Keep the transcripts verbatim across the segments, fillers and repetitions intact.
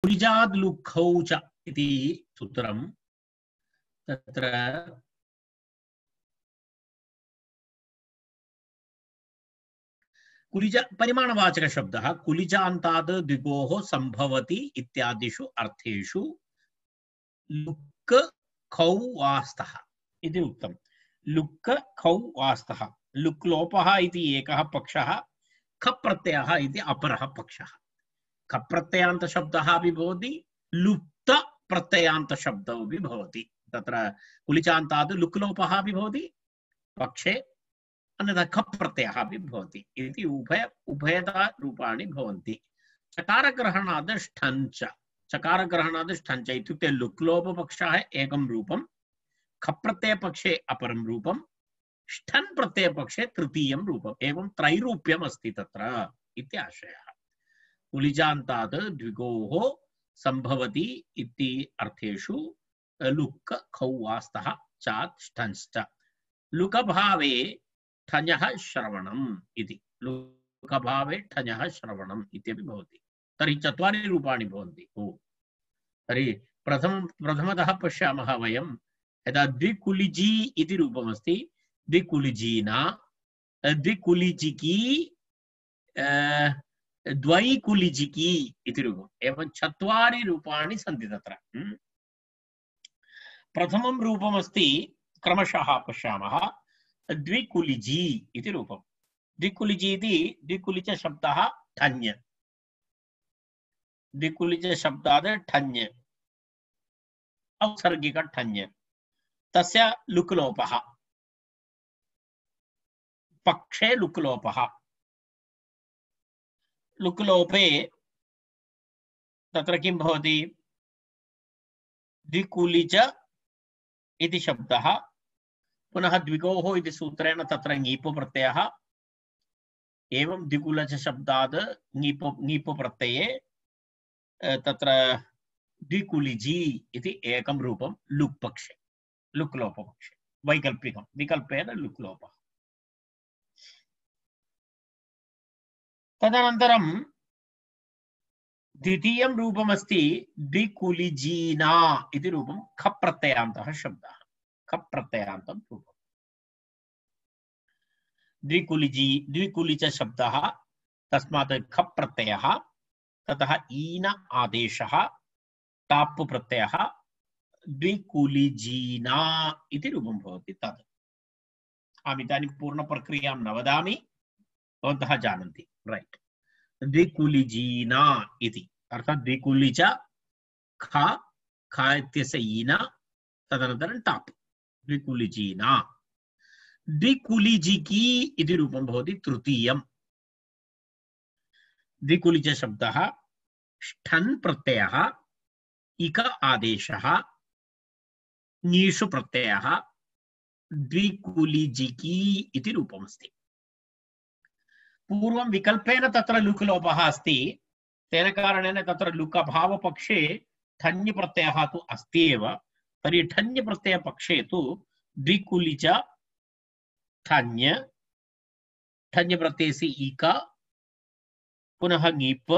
कुलिजाद् लुक्खौ च इति सूत्रं तत्र कुलिज परिमाणवाचक शब्दः कुलिजान्ताद् द्विगोः संभवति इत्यादिषु अर्थेषु लुक् खौ वास्तः इति उक्तम्। लुक् खौ वास्तः लुक् लोपः इति एकः पक्षः खप् प्रत्ययः इति अपरः पक्षः। खप् प्रत्ययान्त शब्दः अपि भवति लुप्त प्रत्ययान्त शब्दः अपि भवति। तत्र कुलिचान्ताद् लुक् लोपः अपि भवति पक्षे अन्यथा खप् प्रत्ययः अपि भवति इति उभय उभयता रूपाणि भवन्ति। चकारग्रहणाद् ष्ठञ्च चकारग्रहणाद् ष्ठञ्च इत्युक्ते लुक् लोप पक्षः एकं रूपं खप् प्रत्यय पक्षे अपरं रूपं ष्ठन् प्रत्यय पक्षे तृतीयं रूपम् एवं त्रैरूप्यम् अस्ति तत्र इति आशयः। कुलिजान्ताद् द्विगोः संभवति इति अर्थेषु लुक् खौ वास्तः चात् ष्ठञ्च लुकभावे ठञः श्रवणम् इति लुकभावे ठञः श्रवणम् इत्यपि भवति। तर्हि चत्वारि रूपाणि भवन्ति। ओ तर्हि प्रथम प्रथमतः पश्यामः वयं यदा द्विकुलिजी इति रूपमस्ति द्विकुलिजीना द्विकुलिजिकी द्वैकुलिजिकी इति रूपम् एवं चत्वारि रूपाणि सन्ति तत्र। प्रथमं रूपमस्ति क्रमशः पश्यामः द्विकुलिजी इति रूपम्। द्विकुलिजी इति द्विकुलिज शब्दः ठञ् द्विकुलिज शब्दात् ठञ् औत्सर्गिक ठञ् तस्य लुक् लोपः पक्षे लुक् लोपः लुक् लोपे तत्र किं भवति द्विकुलिज इति शब्दः पुनः द्विगोः इति सूत्रेण तत्र ङीपो प्रत्ययः एवं द्विकुलिज शब्दात् ङीपो ङीपो प्रत्यये तत्र द्विकुलिजी इति एकं रूपं लुक् पक्षे लुक् लोप पक्षे वैकल्पिकं विकल्पेन लुक् लोपः। तदनन्तरं द्वितीयं रूपमस्ति द्विकुलिजीना इति रूपं खप् प्रत्ययान्तः शब्दः खप् प्रत्ययान्तं रूपम्। द्विकुलिजी द्विकुलिज शब्दः तस्मात् खप् प्रत्ययः ततः ईन आदेशः टाप् प्रत्ययः द्विकुलिजीना इति रूपं भवति। तत् अहम् इदानीं पूर्णप्रक्रियां न वदामि भवन्तः जानन्ति राइट। द्विकुलिजीना इति अर्थात् द्विकुलिज ख ख इत्यस्य ईन तदनन्तरं टाप् द्विकुलिजीना। द्विकुलिजिकी इति रूपं भवति तृतीयं। द्विकुलिज शब्दः ष्ठन् प्रत्ययः इक आदेशः ङीषु प्रत्ययः द्विकुलिजिकी इति रूपमस्ति। पूर्वं विकल्पेन तत्र लुक् लोपः अस्ति तेन कारणेन तत्र लुक् अभाव पक्षे ठञ् प्रत्ययः तु अस्ति एव। तर्हि ठञ् प्रत्यय पक्षे तु द्विकुलिज ठञ् ठञ् प्रत्ययस्य इक पुनः ङीप्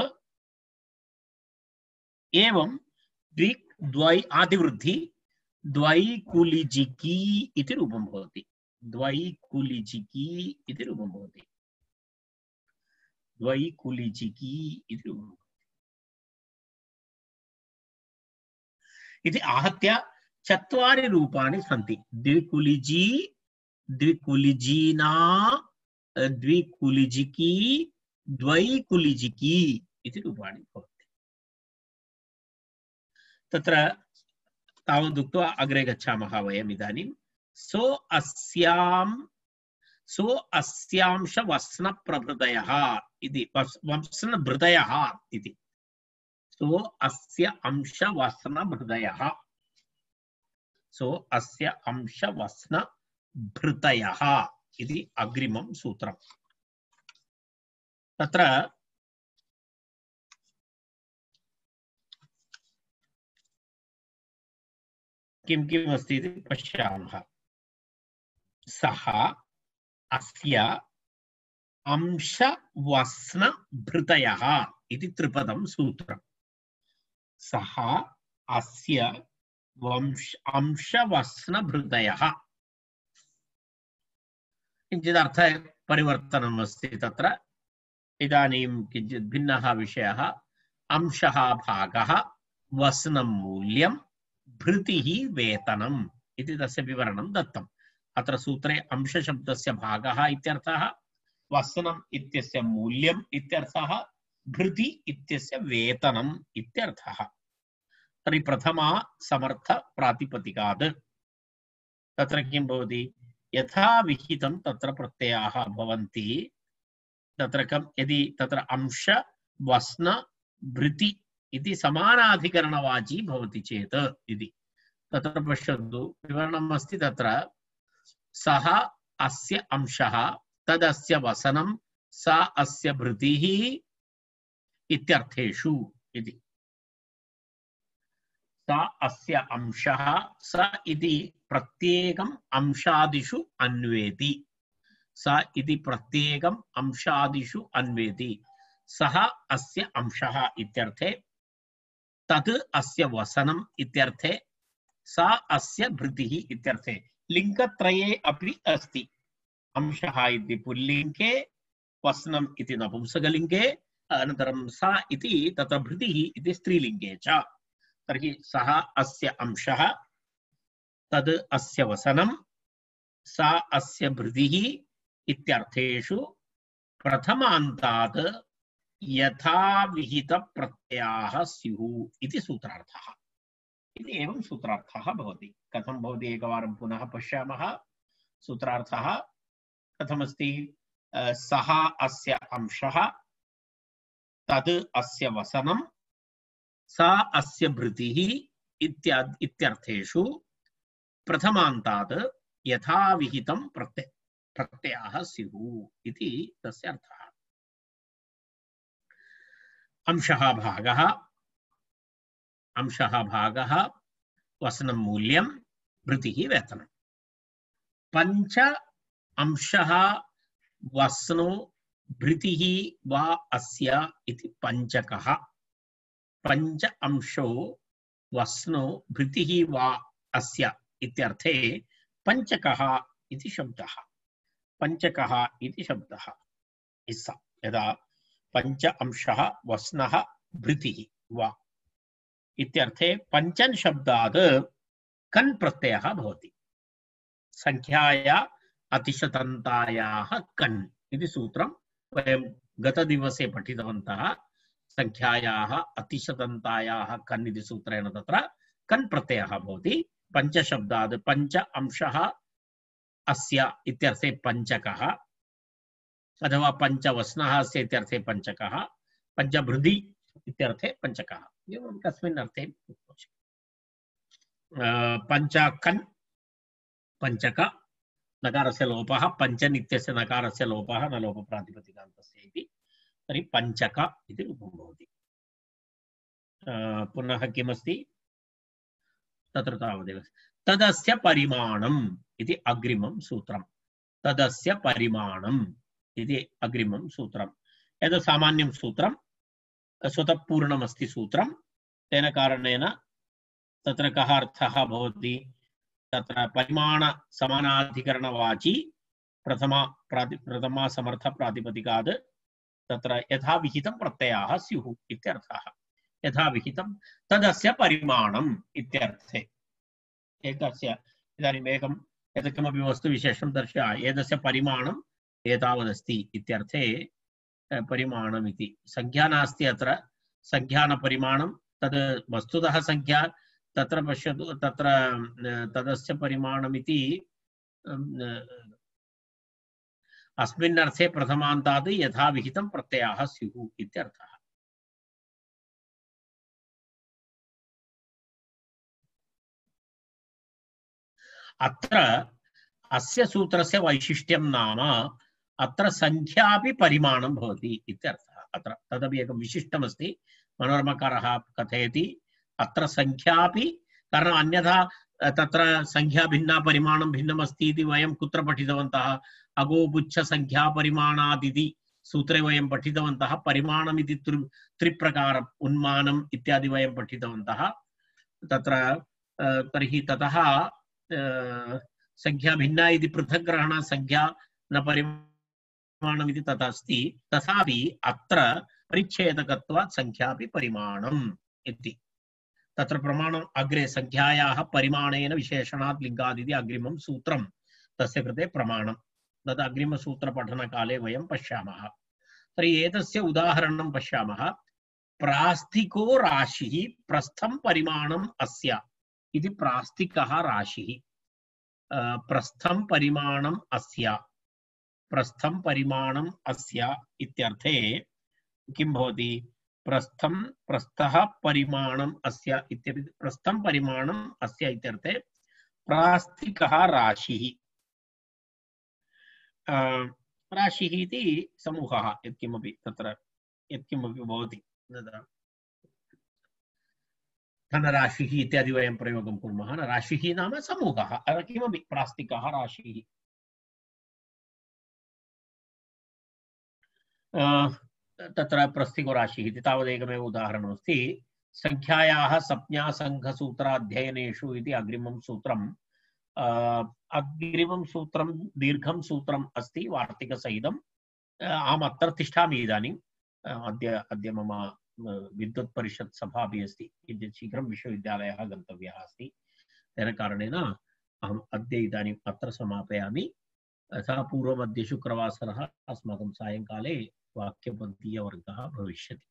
एवं द्वि द्वै आदिवृद्धि द्वैकुलिजिकी इति रूपं भवति। द्वैकुलिजिकी इति रूपं भवति द्वैकुलिजिकी इति रूपं भवति इति आहत्य चत्वारि रूपाणि सन्ति। द्विकुलिजी द्विकुलिजीना द्विकुलिजिकी द्वैकुलिजिकी इति रूपाणि भवन्ति। तत्र तावदुक्त्वा अग्रे गच्छामः वयम् इदानीं। सो अस्यां सो अस्यांश वस्न प्रभृतयः इति वस्न भृतयः इति सो अस्य अंश वस्न भृतयः सो अस्य अंश वस्न भृतयः इति अग्रिमं सूत्रम्। तत्र किं किम् अस्ति इति पश्यामः। सः अस्य अंश वस्न भृतयः इति त्रिपदं सूत्रम्। सः अस्य वंश अंशवस्नभृतयः किञ्चित् अर्थपरिवर्तनम् अस्ति तत्र इदानीं किञ्चित् भिन्नः विषयः अंशः भागः वस्नं मूल्यं भृतिः वेतनम् इति तस्य विवरणं दत्तम् अत्र सूत्रे अंशशब्दस्य भागः इत्यर्थः वस्नम् इत्यस्य मूल्यम् इत्यर्थः भृति इत्यस्य वेतनम् इत्यर्थः तर्हि प्रथमा समर्थ प्रातिपदिकात् तत्र किं भवति यथा विहितं तत्र प्रत्ययाः भवन्ति तत्र कं यदि तत्र अंश वस्न भृति इति समानाधिकरणवाची भवति चेत् इति तत्र पश्यन्तु विवरणम् अस्ति तत्र सः अस्य अंशः तदस्य वसनं सा अस्य भृतिः इत्यर्थेषु इति सा अस्य अंशः स इति प्रत्येकम् अंशादिषु अन्वेति सा इति प्रत्येकम् अंशादिषु अन्वेति सः अस्य अंशः इत्यर्थे तत् अस्य वसनम् इत्यर्थे सा अस्य भृतिः इत्यर्थे लिङ्गत्रये अपि अस्ति अंशः इति पुल्लिङ्गे वसनम् इति नपुंसकलिङ्गे अनन्तरं सा इति तत्र भृतिः इति स्त्रीलिङ्गे च तर्हि सः अस्य अंशः तद् अस्य वसनं सा अस्य भृतिः इत्यर्थेषु प्रथमान्तात् यथा विहित प्रत्ययाः स्युः इति सूत्रार्थः इति एवं सूत्रार्थः भवति कथं भवति एकवारं पुनः पश्यामः सूत्रार्थः कथमस्ति सः अस्य अंशः तद् अस्य वसनं सा अस्य भृतिः इत्यादि इत्यर्थेषु प्रथमान्तात् यथा विहितं प्रत्यय प्रत्ययाः स्युः इति तस्य अर्थः अंशः भागः अंशः भागः वसनं मूल्यं भृतिः वेतनं पञ्च अंशः वसनो भृतिः वा अस्य इति पञ्चकः पञ्च अंशो वसनो भृतिः वा अस्य इत्यर्थे पञ्चकः इति शब्दः पञ्चकः इति शब्दः इसा यदा पञ्च अंशः वस्नः भृतिः वा इत्यर्थे पञ्चन् शब्दात् कन् प्रत्ययः भवति संख्याया अतिशतन्तायाः कन् इति सूत्रं वयं गतदिवसे पठितवन्तः संख्यायाः अतिशतन्तायाः कन् इति सूत्रेण तत्र कन् प्रत्ययः भवति पञ्चशब्दात् पञ्च अंशः अस्य इत्यर्थे पञ्चकः अथवा पञ्चवस्नः अस्य इत्यर्थे पञ्चकः पञ्चभृति इत्यर्थे पञ्चकः एवं कस्मिन् अर्थे पञ्चकन् पञ्चक नकारस्य लोपः पञ्चन् इत्यस्य नकारस्य लोपः न लोपप्रातिपदिकान्तस्य इति तर्हि पञ्चक इति रूपं भवति पुनः किमस्ति तत्र तावदेव तदस्य परिमाणम् इति अग्रिमं सूत्रं तदस्य परिमाणम् इति अग्रिमं सूत्रं एतत् सामान्यं सूत्रं स्वतः पूर्णमस्ति सूत्रं तेन कारणेन तत्र कः अर्थः भवति तत्र परिमाण समानाधिकरणवाची प्रथमा प्राति प्रथमा समर्थ प्रातिपदिकात् तत्र यथा विहितं प्रत्ययाः स्युः इत्यर्थः यथा विहितं तदस्य परिमाणम् इत्यर्थे एकस्य इदानीम् एकं यत् किमपि वस्तुविशेषं दर्शय एतस्य परिमाणम् एतावदस्ति इत्यर्थे परिमाणमिति संख्या नास्ति अत्र संख्यानपरिमाणं तद् वस्तुतः संख्या तत्र पश्यतु तत्र तदस्य परिमाणमिति अस्मिन् अर्थे प्रथमान्तात् यथा विहितं प्रत्ययाः स्युः इत्यर्थः अत्र अस्य सूत्रस्य वैशिष्ट्यं नाम अत्र संख्यापि परिमाणं भवति इत्यर्थः अत्र तदपि एकं विशिष्टमस्ति मनोरमकारः कथयति अत्र संख्यापि कारणम् अन्यथा तत्र संख्या भिन्ना परिमाणं भिन्नमस्ति इति वयं कुत्र पठितवन्तः अगोपुच्छ संख्या परिमाणादिति सूत्रे वयं पठितवन्तः परिमाणमिति त्रि त्रिप्रकारम् उन्मानम् इत्यादि वयं पठितवन्तः तत्र तर्हि ततः संख्या भिन्ना इति पृथक् ग्रहण संख्या न परिमाणमिति तथा अस्ति तथापि अत्र परिच्छेदकत्वात् संख्यापि परिमाणम् इति तत्र प्रमाणम् अग्रे संख्यायाः परिमाणेन विशेषणात् लिङ्गादिति अग्रिमं सूत्रं तस्य कृते प्रमाणं तद् अग्रिमसूत्रपठनकाले वयं पश्यामः तर्हि एतस्य उदाहरणं पश्यामः प्रास्तिको राशिः प्रस्थं परिमाणम् अस्य इति प्रास्तिकः राशिः प्रस्थं परिमाणम् अस्य प्रस्थं परिमाणम् अस्य इत्यर्थे किं भवति प्रस्थं प्रस्थः परिमाणम् अस्य इत्यपि प्रस्थं परिमाणम् अस्य इत्यर्थे प्रास्तिकः राशिः राशिः इति समूहः यत्किमपि तत्र यत्किमपि भवति धनराशिः इत्यादि वयं प्रयोगं कुर्मः राशिः नाम समूहः किमपि प्रास्तिकः राशिः तत्र प्रस्थिको राशिः इति तावदेकमेव उदाहरणमस्ति संख्यायाः संज्ञासङ्घसूत्राध्ययनेषु इति अग्रिमं सूत्रम् अग्रिमं सूत्रं दीर्घं सूत्रम् अस्ति वार्तिकसहितम् अहम् अत्र तिष्ठामि इदानीम् अद्य अद्य मम विद्युत् परिषत् सभा अपि अस्ति किञ्चित् शीघ्रं विश्वविद्यालयः गन्तव्यः अस्ति तेन कारणेन अहम् अद्य इदानीम् अत्र समापयामि तथा पूर्वम् अद्य शुक्रवासरः अस्माकं सायङ्काले वाक्यपन्थीयवर्गः भविष्यति।